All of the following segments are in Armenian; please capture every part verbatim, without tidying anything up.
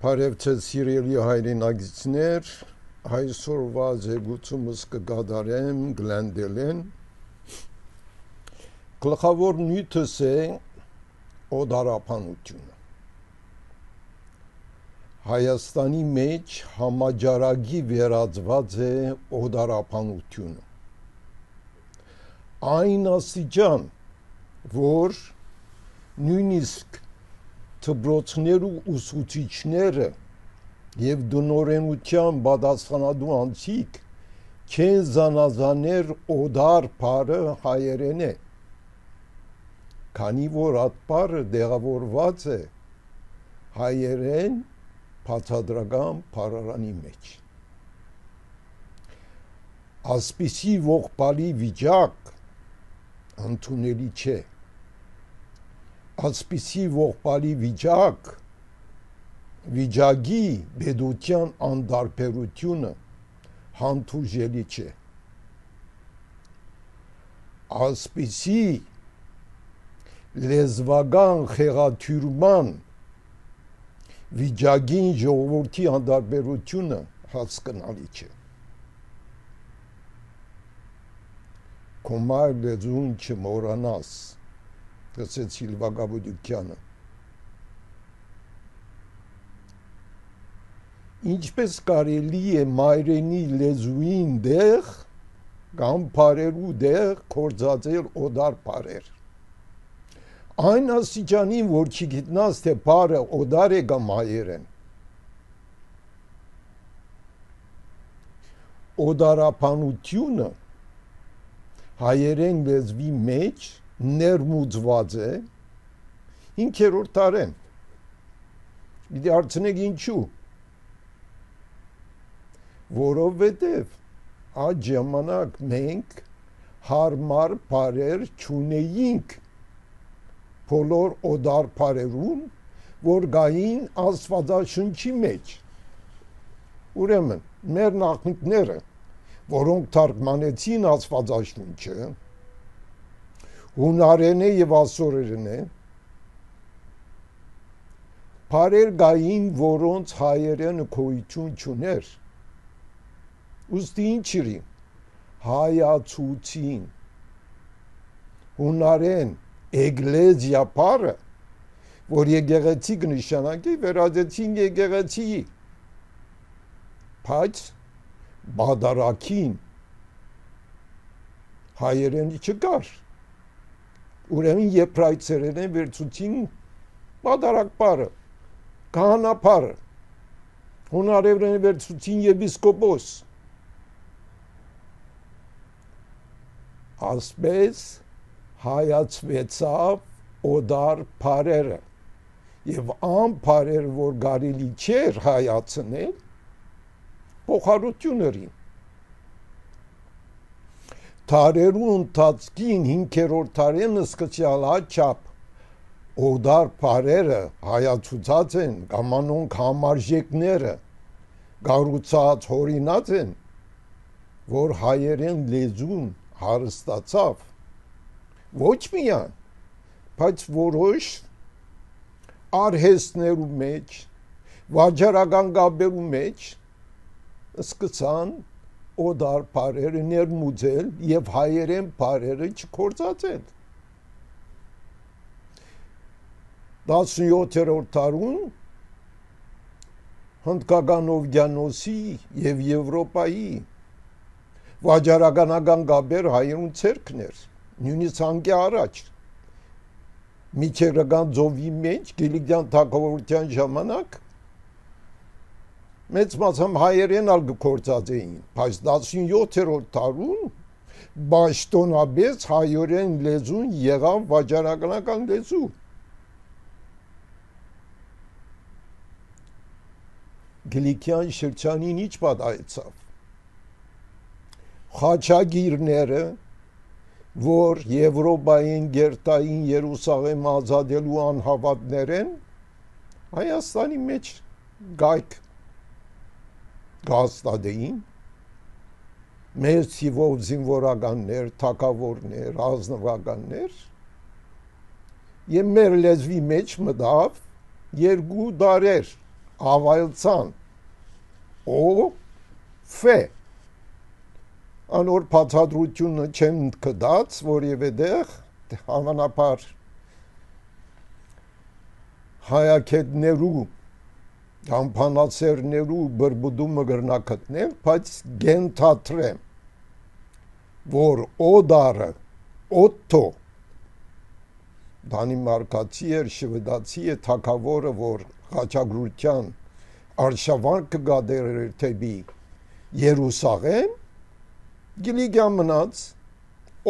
Բարևձեզ սիրելի հայրենակիցներ, այսօրվա զեկուցումս կգադարեմ Գլենդելեն։ Գլխավոր նյութս է օդարապանությունը։ Հայաստանի մեջ համաճարակի վերածված է օդարապանությունը։ Այն աստիճան, որ նույնիսկ դպրոցներու ուսուցիչները եւ դնորենության պատասխանատու անձիկ չեն զանազաներ օդար բառը հայերեն է, քանի որ այդ բառը դեղավորված է հայերեն բացատրական բառարանի մեջ։ Ասպիսի ողբալի վիճակ ընդունելի չէ։ Ասպիսի ողբալի վիճակ վիճակի բեդության անդարբերությունը հանդուրժելի չէ։ Ասպիսի լեզվական խեղաթյուրման վիճակին ժողովրդի անդարբերությունը հասկանալի չէ։ Կոմար լեզուն չմոռանաս, ասեց Սիլվա Գաբուդյանը։ Ինչպես կարելի է մայրենի լեզուին դեղ կամ բառերու դեղ կործածել օդար բառեր։ Այն աստիճանին, որ չգիտնաս, թե բառը օդար է կամ հայերեն։ Օդարապանությունը հայերեն լեզվի մեջ ներմուծված է հինգերորդ դարին։ Դիտի հարցնեք ինչու։ Որովհետև այդ ժամանակ մենք հարմար բառեր չունեինք բոլոր օդար բառերուն, որ գային Աստվածաշնչի մեջ։ Ուրեմն մեր նախնիները, որոնք թարգմանեցին Աստվածաշունչը, հունարեն է եւ ասորերեն է, բառեր գային, որոնց հայերենը գոյություն չուներ։ Ուստի ինչի հայացուցին հունարեն էգլեզիա բառը, որ եկեղեցի կնշանակի, վերածեցին եկեղեցի, բայց բադարակին հայերենի չկար։ Ուրեմն եբրայցերեն վերցուցին բադարակ բառը, քահանա բառը, հունարերեն վերցուցին եպիսկոպոս։ Ասպես հայացվեցավ օդար բառերը եւ ան բառերը, որ կարելի չէր հայացնել, փոխարություններին։ Թարերու ընթացքին հինգերորդ դարին սկսյալ աչափ օդար բառերը հայացուցած են, կամ անոնք համարժեքները գառուցած հորինած են, որ հայերեն լեզուն հարստացավ ոչ միայն, բայց որոշ արհեստներու մեջ, վաճառական գաբերու մեջ սկսան օդար բառերը ներմուծել եւ հայերեն բառերը չկործածել։ տասնյոթերորդ դարում հնդկական օվկիանոսի եւ Եվրոպայի վաճառականական գաբեր հայերուն ցերկներ, նույնիսկ անկի առաջ միջերական ծովի մեջ Գիլիգյան թագավորության ժամանակ մեծ մասամբ հայերեն ալ գործած էին, բայց տասնյոթերորդ դարում բաշտոնաբես հայերեն լեզուն եղավ վաճառականական լեզու։ Գլիկյան շրջանին ինչ պատահեցավ։ Խաչագիրները, որ Եվրոպային գերտային Երուսաղեմ ազատելու անհավատներ են, Հայաստանի մեջ գայք գաստադեին, մեր թիվով զինվորականներ, թագավորներ, ազնվականներ, եւ մեր լեզվի մեջ մտավ երկու դարեր ավայլցան օ ֆ անոր բացատրությունը չեմ կդած որևէ դեղ հավանաբար հայակետներու համբանացերներու բրբուդումը գրնակտնել, բայց գենթատրեմ, որ օդարը, օտտո, դանիմարկացի էր, շվեդացի է թագավորը, որ խաչագրության արշավանքը գադեր էր թեպի Երուսաղեմ, գիլիգյա մնաց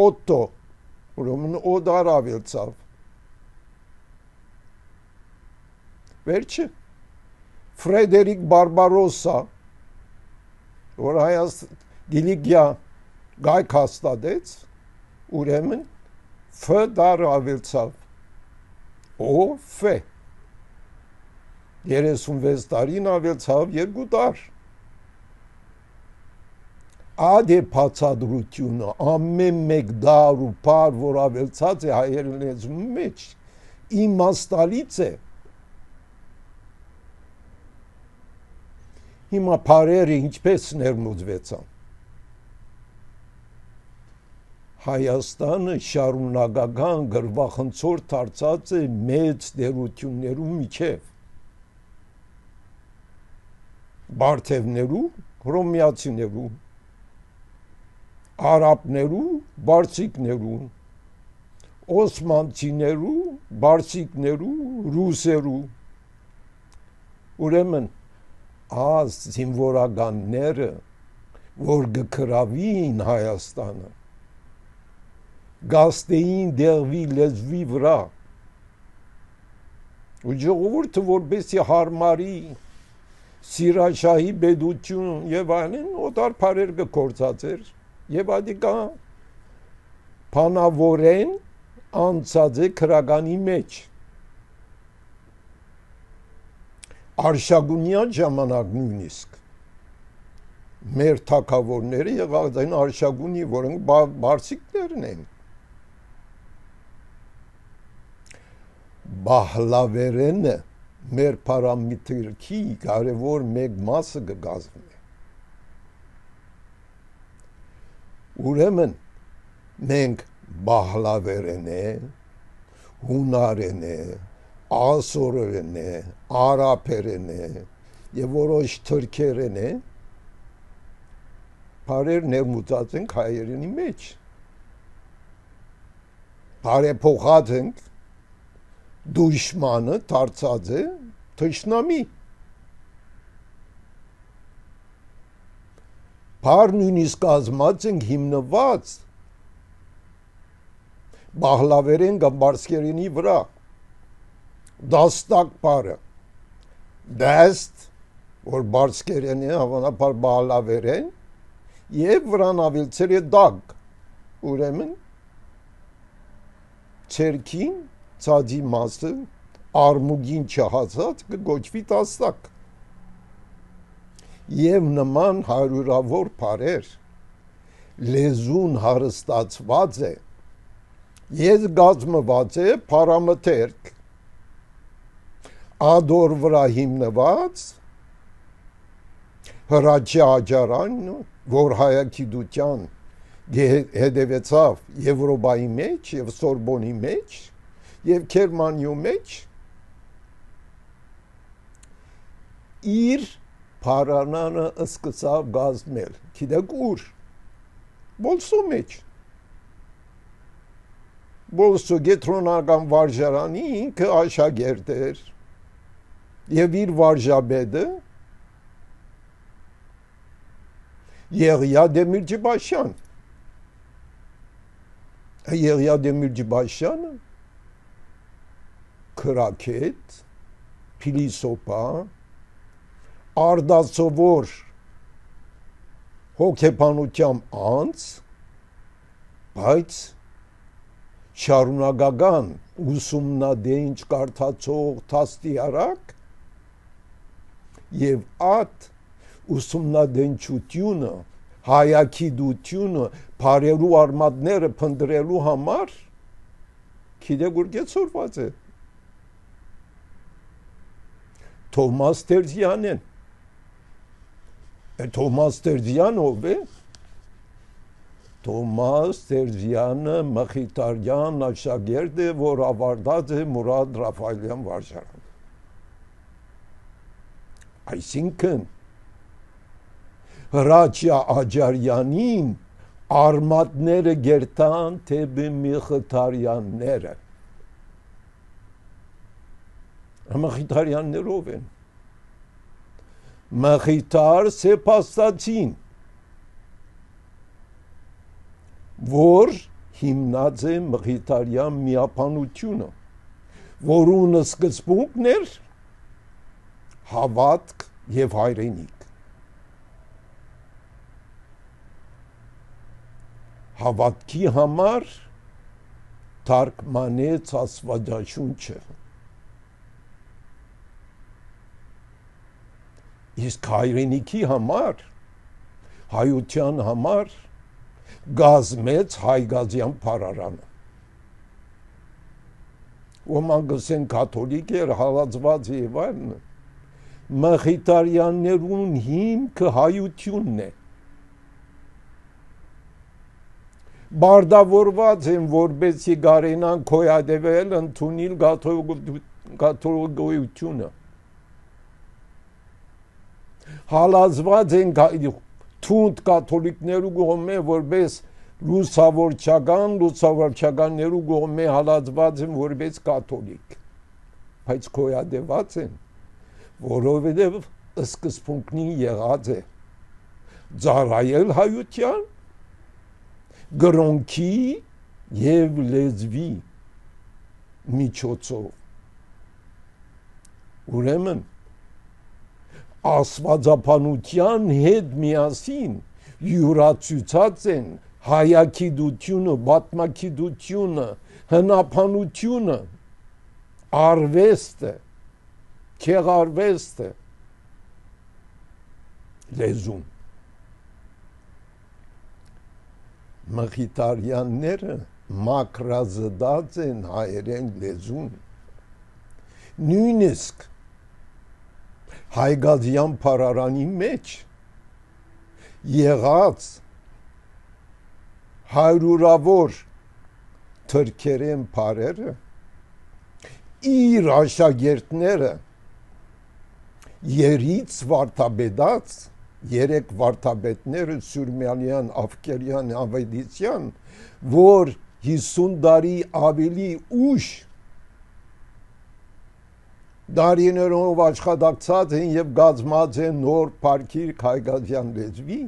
օտտո, ուրեմն օդար ավելցավ, վերջը, Ֆրեդերիկ Բարբարոսա, որ հայաց գիլիգյա գայք հաստատեց, ուրեմն Ֆ դար ավելցավ, օ Ֆ, երեսունվեց տարին ավելցավ երկու դար, ադե բացատրությունը ամեն մեկ դար ու պար, որ ավելցած է հայերեն լեզու մեջ, իմաստալից է, հիմա պարերը ինչպես ներմուծվեցան, Հայաստանը շարունակական գրվախնցոր դարձած է մեծ դերություններու միջև, բարթևներու, հռոմեացիներու, արաբներու, բարսիկներու, օսմանցիներու, բարսիկներու, ռուսերու, ուրեմն այս զինվորականները, որ գքրավին Հայաստանը, գաստեին դեղվի լեզվի վրա, ու ժողովուրդը որպեսի հարմարի, սիրաշահի բեդություն և այլն, օտար պարեր կկործած էր, և ադիկա պանավորեն անցած է քրագանի մեջ, Արշագունյան ժամանակ նույնիսկ մեր թագավորները եղած են արշագունի, որոնք բարսիկներն են, բահլավերենը մեր պարամիտրքի կարևոր մեկ մասը կգազմի, ուրեմն մենք բահլավերեն է, հունարեն է, ասորերեն է, արաբերեն է և որոշ թրքերեն է, պարեր ներմուծած ենք հայերենի մեջ, բարեփոխած ենք, դուշմանը դարձած է թշնամի, պար նույնիսկ կազմած ենք հիմնված բահլավերեն կամ բարսկերենի վրա, դաստակ պարը, դեստ, որ բարսկերեն է, հավանաբար բահլավերեն, և վրան ավելցել է դագ, ուրեմն, ցերքին, ցածի մասը, արմուգին չհասած, կգոչվի դաստակ, և նման հարյուրավոր պարեր, լեզուն հարստացված է, և գազմված է պարամթերք, ադոր վրա հիմնված, հրաչի աջարան, որ հայագիտության հետևեցավ Եվրոպայի մեջ և Սորբոնի մեջ և Գերմանիու մեջ, իր պարանանը սկսավ գազմել, գիտեք ուր, Բոլսո մեջ, Բոլսո գետրոնական վարժարանի ինքը աշակերտ էր, և իր վարժաբեդը Եղիա Դեմիրճիբաշյան, Եղիա Դեմիրճիբաշյանը քրաքետ, փիլիսոփա, արդասովոր հոգեբանությամբ անձ, բայց շարունակական ուսումնադենչ կարդացող դաստիարակ և այդ ուսումնադենչությունը, հայագիտությունը, բարերու արմատները փնտրելու համար գիտեք ուր կեցորված է, Թոմաս Տերզյանն։ Թոմաս Տերզյան ով է։ Թոմաս Տերզյանը Մխիթարյան աշակերտ է, որ ավարտած է Մուրադ Ռաֆայելյան վարժարան։ Այսինքն Հրաչյա Աջարյանին արմատները գերտան թեպի Մխիթարյանները։ Մխիթարյաններով են։ Մխիթար սեպաստացին, որ հիմնած է Մխիթարյան միապանությունը, որուն սկզբունքն էր հավատք եւ հայրենիք։ Հավատքի համար թարգմանեց Աստվածաշունչը։ Իսկ հայրենիքի համար, հայության համար գազմեց Հայգազյան փարարանը։ Ոմանք ասեն կաթոլիկ էր, հալածված եւ այլն։ Մխիթարյաններուն հիմքը հայությունն է։ Բարդավորված են, որպեսզի գարենան քոյադեվել ընդունիլ կաթոլիկությունը։ Հալածված են թունդ կաթոլիկներու կողմէ, որպես լուսավորչական, լուսավորչականներու կողմէ հալածված են որպես կաթոլիկ։ Բայց քոյադեված են, որովհետև սկզբունքնին եղած է ծառայել հայության, գրոնքի եւ լեզվի միջոցով։ Ուրեմն աստվածապանության հետ միասին յուրացուցած են հայագիտությունը, պատմագիտությունը, հնապանությունը, արվեստը, քեղարվեստը, լեզուն։ Մխիթարյանները մակրազդած են հայերեն լեզուն։ Նույնիսկ Հայգազյան փարարանի մեջ եղած հարյուրավոր թրքերեն փարերը իր աշակերտները երից վարդապետած երեք վարդապետները Սուրմյանյան, Ավկերյան, Ավետիսյան, որ հիսուն տարի ավելի ուշ դարիներով աշխատակցած են եւ գազմած են նոր Փարքիր Հայգազյան լեզվի,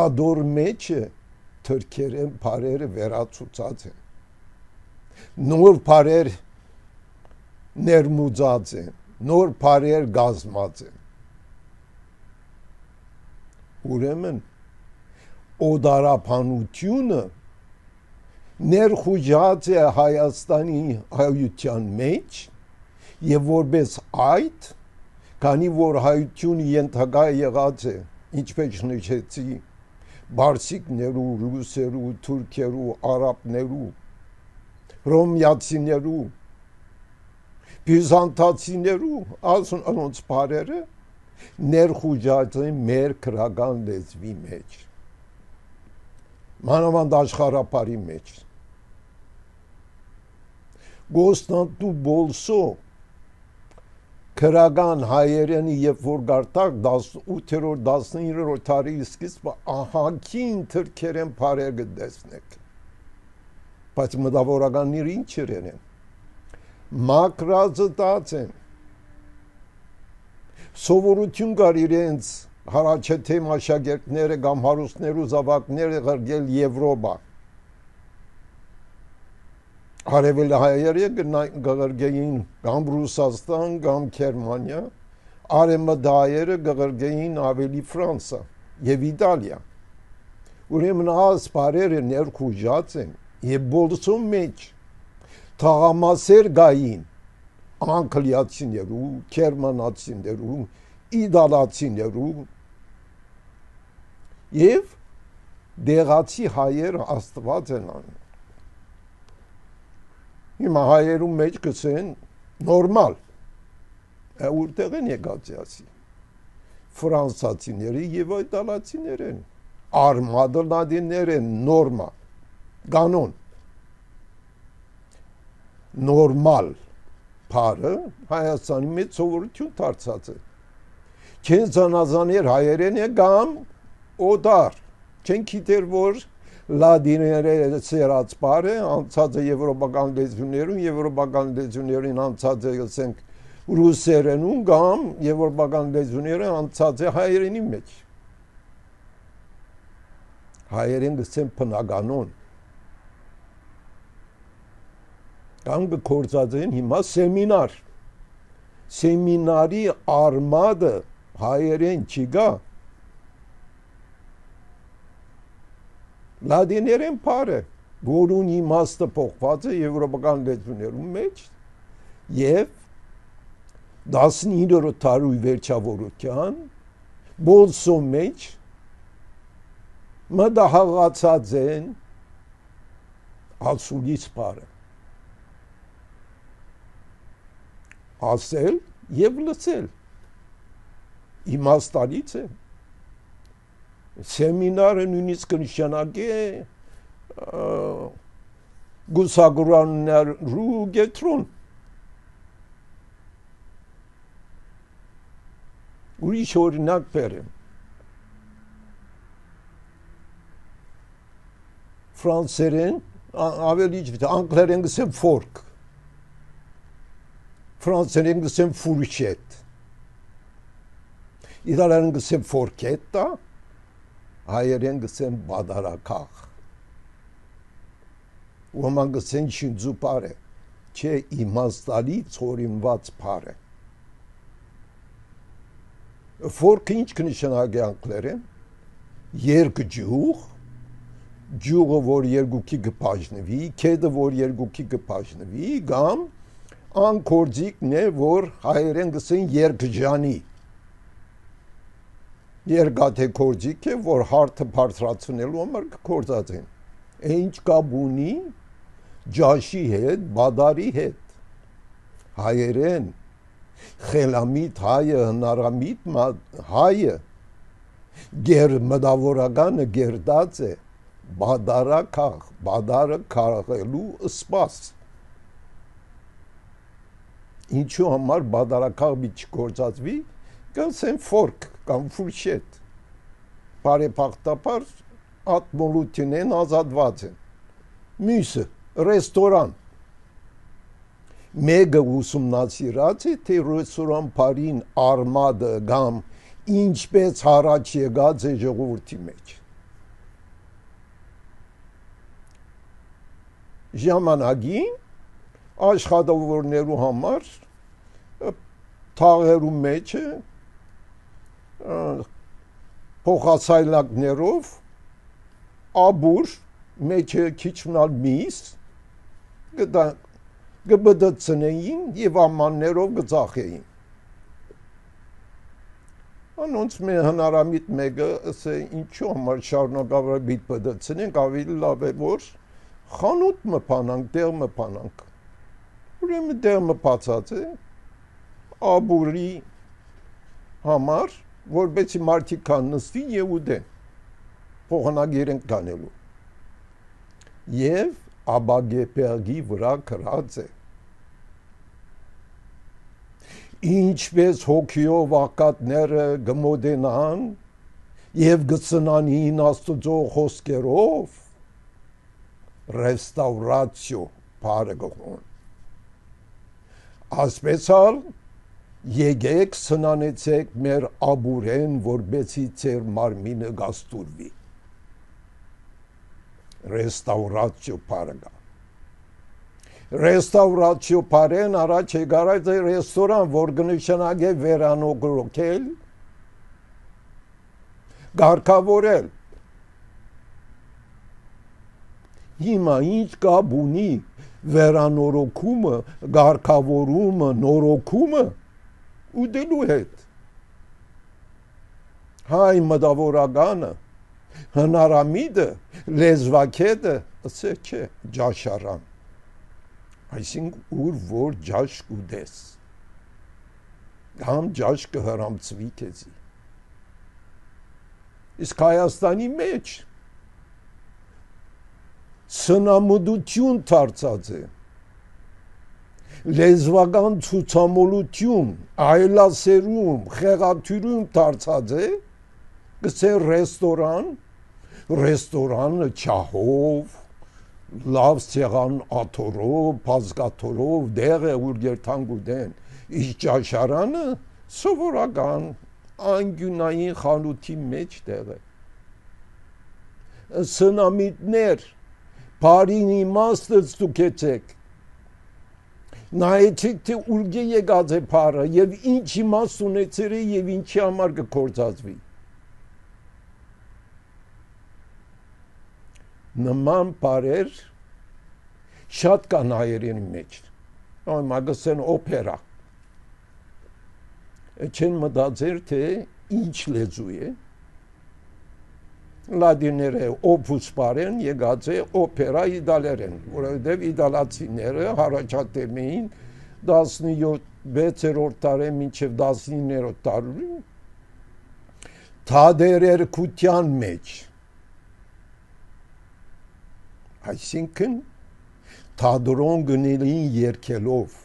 ադոր մեջը թրքերեն փարերը վերացուցած են, նոր փարեր ներմուծած են, նոր փարեր գազմած են։ Ուրեմն օդարապանությունը ներխուժած է Հայաստանի հայության մեջ եւ որպես այդ, քանի որ հայությունը ենթակա եղած է, ինչպես նշեցի, բարսիկներու, ռուսերու, թուրքերու, արաբներու, ռոմիացիներու, բյուզանդացիներու, անոնց բարերը ներխուժած են մեր քրական լեզվի մեջ, մանավանդ աշխարհապարի մեջ։ Կոստանդնուպոլսո քրական հայերենի երբ որ գարտակ ութերորդ տասնիններորդ դարի սկիզբը ահագին թրքերեն փարեր կտեսնեք, բայց մտավորականները ինչ են, մակրազտած են, սովորություն կար իրենց հարաճեթեմ աշակերտները կամ հարուստներու զավակները ղրգել Եվրոպա, արևելը հայերը կղրգեին կամ Ռուսաստան կամ Գերմանիա, արևմտա հայերը կղրգեին ավելի Ֆրանսա եւ Իտալիա։ Ուրեմն այս բարերը ներխուժած են եւ բոլսո մեջ թաղամասեր գային անգլիացիներու, գերմանացիներու, իտալացիներու եւ դեղացի հայերը աստված են անում։ Հիմա հայերու մեջ կսեն նորմալ, Որտեղ են եկած ասի։ Ֆրանսացիները եւ իտալացիներ են։ Արմադը լադիններ են, նորմա, կանոն։ Նորմալ փարը Հայաստանի մեջ սովորություն դարձած է։ Չեն զանազաներ հայերեն է կամ օդար։ Չեն գիտեր որ լադիները սերած բառը անցած է եվրոպական լեզուներում, եվրոպական լեզուներին անցած է ասենք ռուսերենում կամ եվրոպական լեզուները անցած է հայերենի մեջ։ Հայերեն գսեն բնականon։ Կամ գործած են հիմա սեմինար։ Սեմինարի արմադը հայերեն չգա։ Լադիներեն փարը, որուն իմաստը փոխված է եվրոպական լեզուներում մեջ եւ տասնիններորդ դարի վերջավորության բոլսո մեջ մտահղացած են ասուլից փարը ասել եւ լսել իմաստալից է Սեմինարը նույնիսկ նշանակի է գուսագուրաններու գետրոն ուրիշ օրինակ բերեմ ֆրանսերեն ավելի անգլերեն գսեմ ֆորք ֆրանսերեն գսեմ ֆուրշետ իտալերեն գսեմ ֆորքետա հայերեն գսեն բադարակախ ոման գսեն շինձու պարը չէ իմաստալի ծորիմված պարը ֆորքը ինչ կնշանակի անգլերեն երկջուղ ջուղը որ երկուքի կբաժնվի քեդը որ երկուքի կբաժնվի կամ անկորձիկն է որ հայերեն գսեն երկջանի Երկաթե կորձիկ է, որ հարթը բարձրացնելու համար կորձած են։ Ինչ կապ ունի ջաշի հետ, բադարի հետ։ Հայերեն, խելամիտ հայը, հնարամիտ հայը, գեր մտավորականը գերդած է, բադարակախ, բադարը քաղելու սպաս։ Ինչու համար բադարակախ մի չգործածվի, կասեն ֆորք կամ ֆուրշետ բարեփոխտապար ատմոլութին են ազատված են մյուսը ռեստորան մեգա ուսումնասիրած է թե ռեստորան բարին արմադը կամ ինչպես առաջ եկած է ժողովրդի մեջ ժամանակին աշխատավորներու համար թաղերու մեջ է փոխասայլակներով աբուր մեջը քիչմնալ միս գտա գբդցնեին եւ ամաններով գծախեին անոնց մե հնարամիտ մեկը ասե ինչու համար շարունակաբար բիտ բդցնենք ավելի լավ է որ խանութ մփանանք դեր մփանանք ուրեմն դեր մփացած է աբուրի համար որբեցի մարդիկ կան նստի եւ ուդեն փոխանագիրեն կանելու եւ աբագեպերգի վրա գրած է ինչպես հոգիով ակատները գմոդենան եւ գծնանին աստուծո խոսքերով ռեստավրացիո բարեգոն ասպեսալ Եկեք սնանեցեք մեր աբուրեն, որբեցի ծեր մարմինը գաստուրվի։ Ռեստավրացիո պարգա։ Ռեստավրացիո պարեն առաջ եկարած է ռեստորան, որ գնշանակ է վերանոգրոքել, գարկավորել։ Հիմա ինչ կապ ունի վերանորոգումը, գարկավորումը, նորոգումը ուդելու հետ հայ մտավորականը հնարամիդը լեզվակետը ասե չէ ջաշարան այսինքն ուր որ ջաշ կուդես Համ ջաշ կհրամցվի քեզի։ Իսկ Հայաստանի մեջ սնամուդություն դարձած է, լեզվական ցուցամոլություն, այլասերում, խեղաթյուրում դարձած է, գցե ռեստորան, ռեստորանը չահով, լավ սեղան աթորով, բազկաթորով, դեղ է ուր երթանք ուտեն, իսկ ճաշարանը սովորական անգյունային խանութի մեջ տեղ է։ Սնամիտներ, բարին իմաստը ստուգեցեք, նայեցեք, թե ուր եկած է բարը և ինչ իմաստ ունեցել է և ինչի համար կգործածվի։ Նման բարեր շատ կան հայերենի մեջ, մագասեն օպերա, չեն մտածել, թե ինչ լեզու է, լատիները օպուս բարեն եկած է օպերա իտալերեն, որովհետև իտալացիները առաջադեմ էին տասնվեցերորդ դարի մինչև տասնիններորդ դարի թատերերգության մեջ, այսինքն թատրոն գնելին երգելով,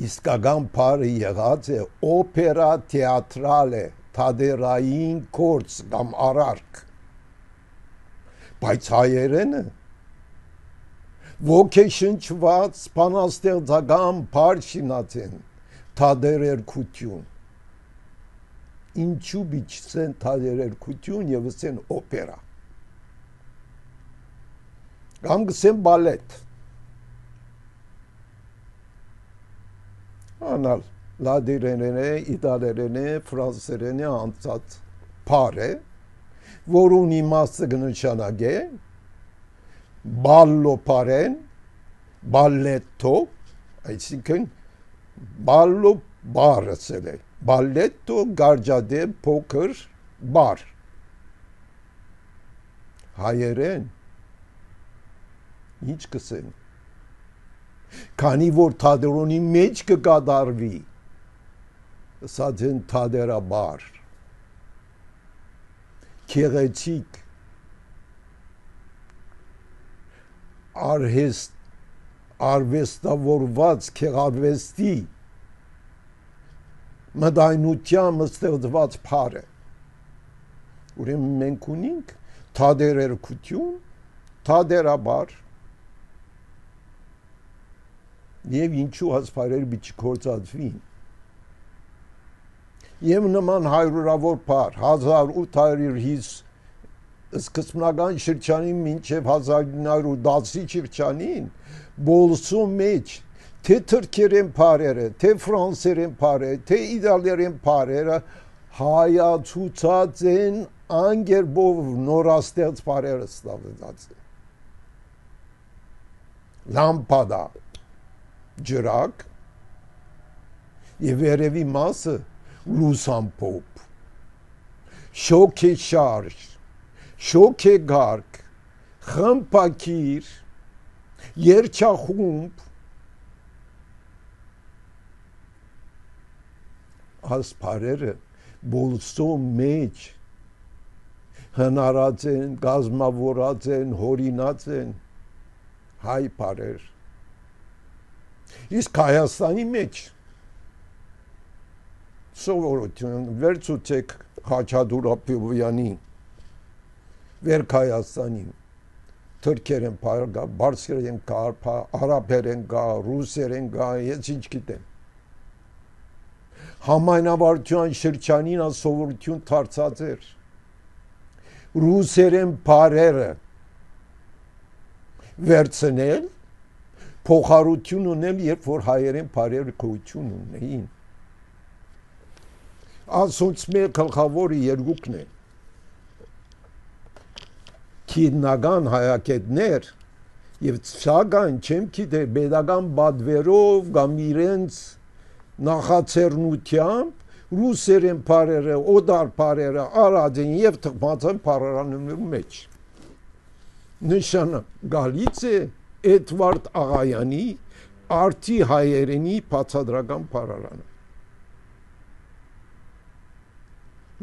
իսկական բարը եղած է օպերա թեատրալ է, թատերային գործ կամ արարք, բայց հայերենը ոգեշնչված բանաստեղծական բար շինացեն, թատերերգություն, ինչու բիչսեն թատերերգություն և ասեն օպերա, կամ գսեն բալետ, անալ լատիներեն է, իտալերեն է, ֆրանսերեն է անցած բար է, որուն իմաստը կնշանակ է, բալլո բարեն, բալետո, այսինքն բալլո բար ասել է, բալետո գարջադեմ փոքր բար, հայերեն, ինչ կսեն, քանի որ թատրոնի մեջ կկատարվի, ասած են թատերաբար, քեղեցիկ, արհեստ, արվեստավորված քեղարվեստի մտայնությամբ ստեղծված բար է, ուրեմն մենք ունենք թատերերգություն, թատերաբար, և ինչու հասպարեր բիչ գործածվին։ Եվ նման հայրուրավոր բար, հազար ութ հարյուր հիսուն սկզբնական շրջանին մինչև հազար ինը հարյուր դասի շրջանին, բոլսու մեջ, թե թրքերեն բարերը, թե ֆրանսերեն բարերը, թե իտալերեն բարերը հայացուցած են անգերբով նորաստեղծ բարերը ստավեցած են։ Լամպադա, ջրակ և երևի մասը լուսամփոփ, շոքե շարժ, շոքե գարկ, խմբակիր, երջախումբ, ասպարերը բոլսո մեջ հնարած են, գազմավորած են, հորինած են, հայ բարեր, իսկ Հայաստանի մեջ սովորություն վերցուցեք Խաչատուր Աբովյանի վերք Հայաստանին, թրքերեն բար կա, բարսերեն կա, արաբերեն կա, ռուսերեն կա, ես ինչ գիտեմ, համայնավարության շրջանին սովորություն դարձած էր, ռուսերեն բարերը վերցնել, փոխարություն ունել, երբ որ հայերեն բարերը գոյություն ունեին։ Ասոնց մեր գլխավորը երկուքն է։ Քիդնական հայակետներ եւ սակայն չեմ գիտեր pedagogan բադվերով կամ իրենց նախաձեռնությամբ ռուսերեն բարերը, օդար բարերը արած են եւ թխված են բարերանների մեջ։ Նշանը գալիս է Էդվարդ Աղայանի արդի հայերենի բացադրական փառարանը։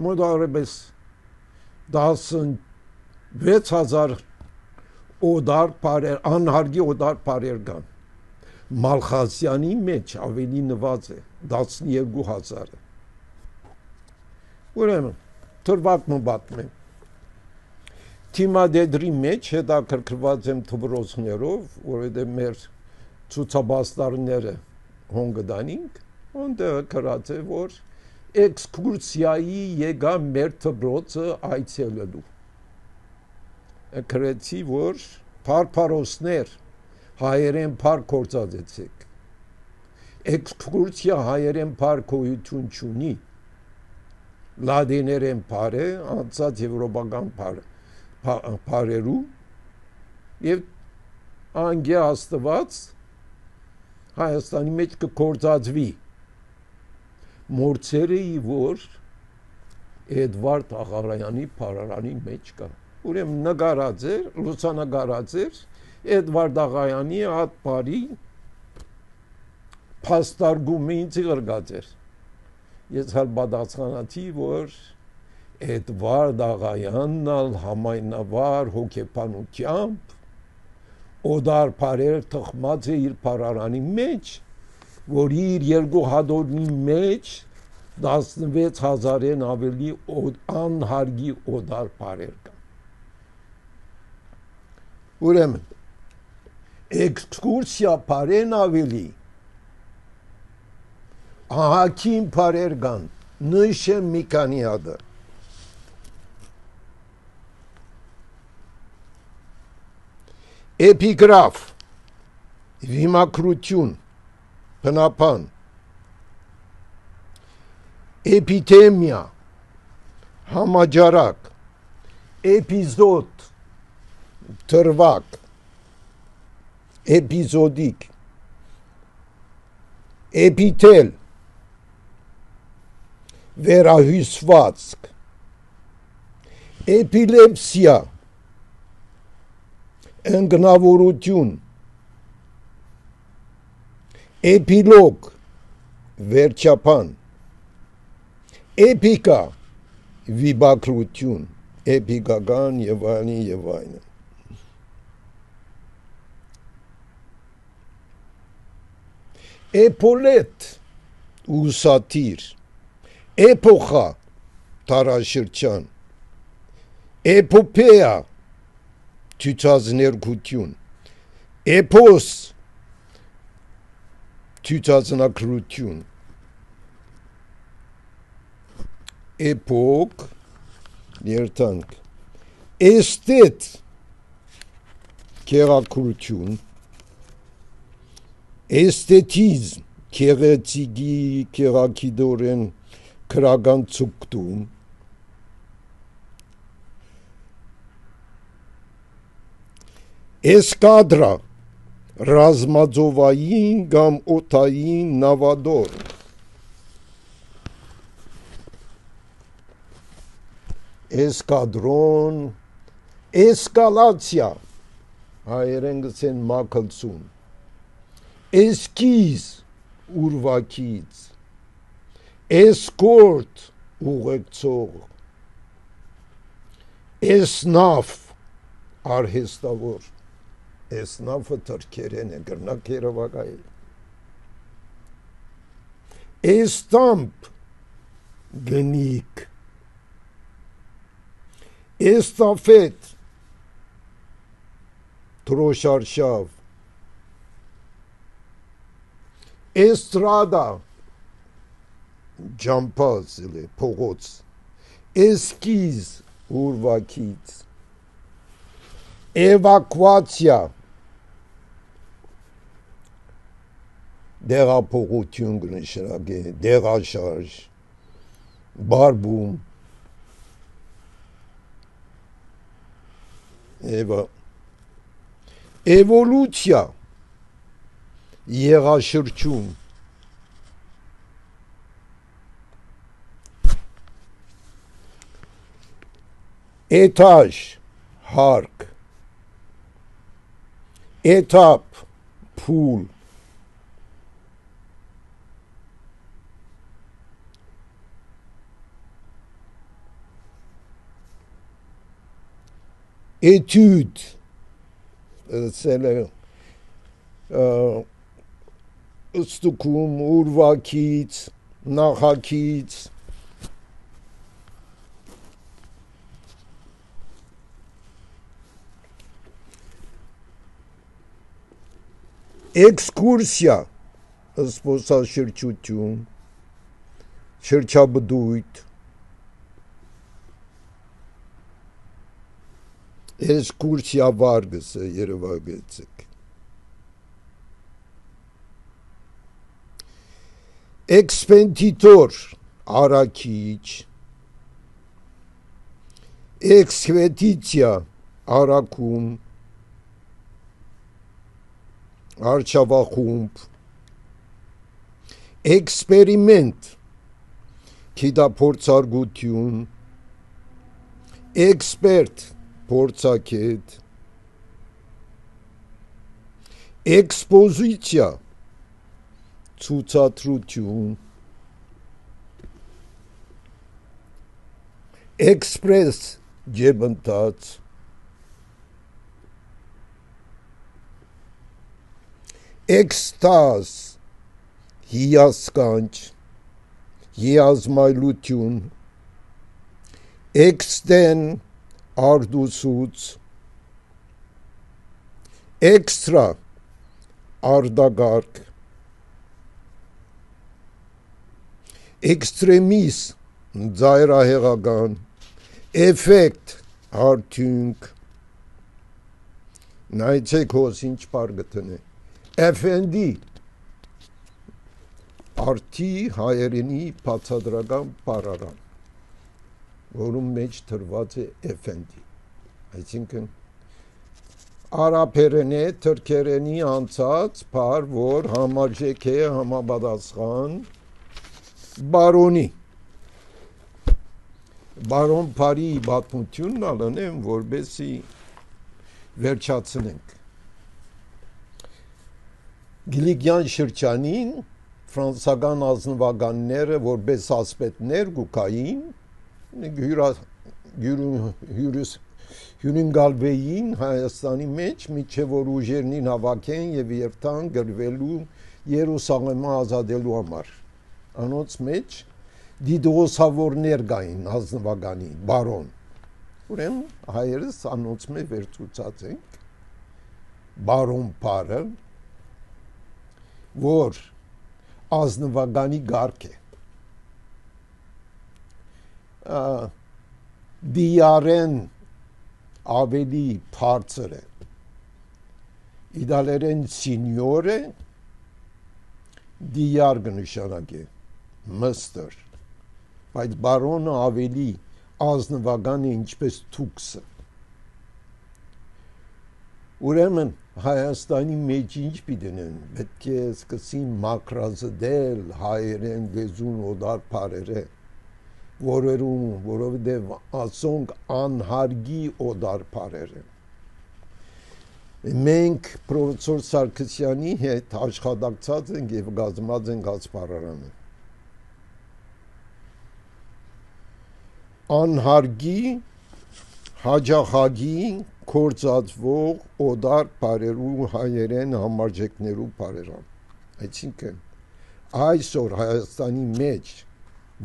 Մոտավորապես տասնվեց հազար օդար բարեր, անհարգի օդար բարեր կան։ Մալխասյանի մեջ ավելի նված է տասնյոթ հազարը։ Ուրեմն թրվակը պատմեմ։ Թիմադեդրի մեջ հետաքրքրված եմ թվրոցներով, որովհետև մեր ցուցաբաստարները հոնգդանինք, այնտեղ գրած է, որ էքսկուրսիայի եկա մեր թվրոցը այցելելու։ Գրեցի, որ փարփարոսներ հայերեն փառ կործածեցեք։ Էքսկուրսիա հայերեն փառ գոյություն չունի։ Լադիներեն փառ է, անցած եվրոպական փառ փարերու եւ անգե աստված Հայաստանի մեջ կկործածվի մորցերը որ Էդվարդ Աղարյանի փարարանի մեջ կա։ Ուրեմն նկարած էր, լուսանկարած էր Էդվարդ Աղարյանի այդ բարի փաստարգումը ինձ գրգած էր։ Ես հալ պատասխանացի, որ Էդվարդ Աղայանն ալ համայնավար հոգեբանությամբ օդար բարեր թխմած է իր փարարանի մեջ, որ իր երկու հատորնի մեջ տասնվեց հազարեն ավելի անհարգի օդար բարեր կան։ Ուրեմն էքսկուրսիա բարեն ավելի ահագին բարեր կան, նշեմ մի քանի հատը։ Էպիգրաֆ, վիմակրություն, բնապան, էպիդեմիա, համաճարակ, էպիզոդ, թրվակ, էպիզոդիկ, էպիթել, վերահյուսվածք, էպիլեպսիա, ընկնավորություն, էպիլոգ, վերջապան, էպիկա, վիբակրություն, էպիկական եւ այլն եւ այլն։ Էպոլետ, ուսատիր, էպոխա, տարաշրջան, էպոպեա, ցույցազներգություն, էպոս, ցույցազնագրություն, էպոկ, երթանք, էստետ, քեղաքրություն, էստետիզմ, քեղեցիկի, քեղակիդորեն, քրական ցուկտում, Էսկադրա, ռազմաձովային կամ օդային նավադոր, էսկադրոն, էսկալացիա, հայերեն գցեն մակլցուն, էսկիզ, ուրվակից, էսկորտ, ուղեկցող, էսնաֆ, արհեստավոր, Էսնաֆը թրքերեն է, գրնակ երևակայել։ Էստամպ, գնիկ, էստաֆետ, թրոշարշավ, էստրադա, ջամպազ, փողոց, էսկիզ, ուրվակից, էվակուացիա, դեղափոխություն կնշանակե, դեղաշարժ, բարբում, Էվա, էվոլյուցիա, եղաշրջում, էթաժ, հարկ, էթապ, փուլ, étude c'est le ստուգում ուրվակից նախակից էքսկուրսիա զբոսաշրջություն շրջաբդույթ էքսկուրսիա վարգս է երևակեցեք էքսպենդիտոր արաքիչ էքսվետիցիա արաքում արչավախումբ էքսպերիմենտ գիտափորձարկություն էքսպերտ փորձագետ էքսպոզիցիա ցուցադրություն էքսպրես ջեբընթաց էքստազ հիասքանչ հիազմայլություն էքստեն արդուսուց էքստրա արդագարգ էքստրեմիս ձայրահեղական էֆեկտ արդյունք նայեցեք հոս ինչ բար գտնե էֆենդի արդի հայերենի բացադրական բառարան որում մեջ թրված է էֆենդի այսինքն արաբերենի թուրքերենի անցած բառ որ համարժեք է համապատասխան բարոնի բարոն բարի պատմությունն ալնեմ որբեսի վերջացնենք Գիլիգյան շրջանին ֆրանսական ազնվականները որպես ասպետներ գուկային հյուրընկալվեին Հայաստանի մեջ միջև որ ուժերնին հավաքեն եւ երթան գրվելու Երուսաղեմը ազատելու համար անոնց մեջ դիդրոսավորներ կային ազնվականի բարոն ուրեմն հայերս անոնց մեջ վերցուցած ենք բարոն բարը որ ազնվականի գարկ է դիարեն ավելի բարձր է իդալերեն սինյոր է դիար կնշանակե մստր բայց բարոնը ավելի ազնվական է ինչպես թուքսը ուրեմն Հայաստանի մեջ ինչ պիտենեն պետք է սկսին մակրազդել հայերեն լեզուն օդար բարերը որերում որովհետև ասոնք անհարգի օդար բարերը մենք պրոֆեսոր Սարգսյանի հետ աշխատակցած ենք եւ գազմած ենք ասպարարանը անհարգի հաջախագի կործածվող օդար բարերու հայերեն համարժեքներու բարերան այսինքն այսօր Հայաստանի մեջ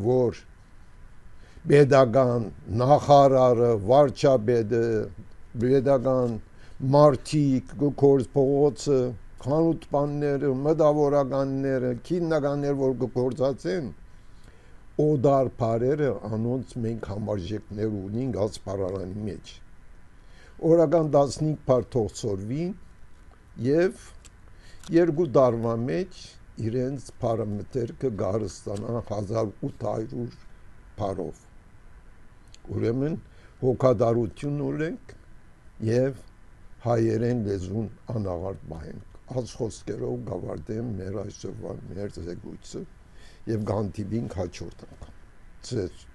որ պետական նախարարը վարչապետը պետական մարտիկ գործ փողոցը խանութպանները մտավորականները քիննականներ որ գործածեն օդար բարերը անոնց մենք համարժեքներ ունենք ասպարարանի մեջ օրական տասնհինգ բար թողսորվի եւ երկու տարվա մեջ իրենց պարամետրը գարստանա հազար ութ հարյուր բարով ուրեմն հոգադարություն ունենք եւ հայերեն լեզուն անաղարտ բահենք այս խոսքերով գավարտեմ մեր այսօրվա մեր զեկույցը եւ գանտիբին հաջորդ անգամ ցեզ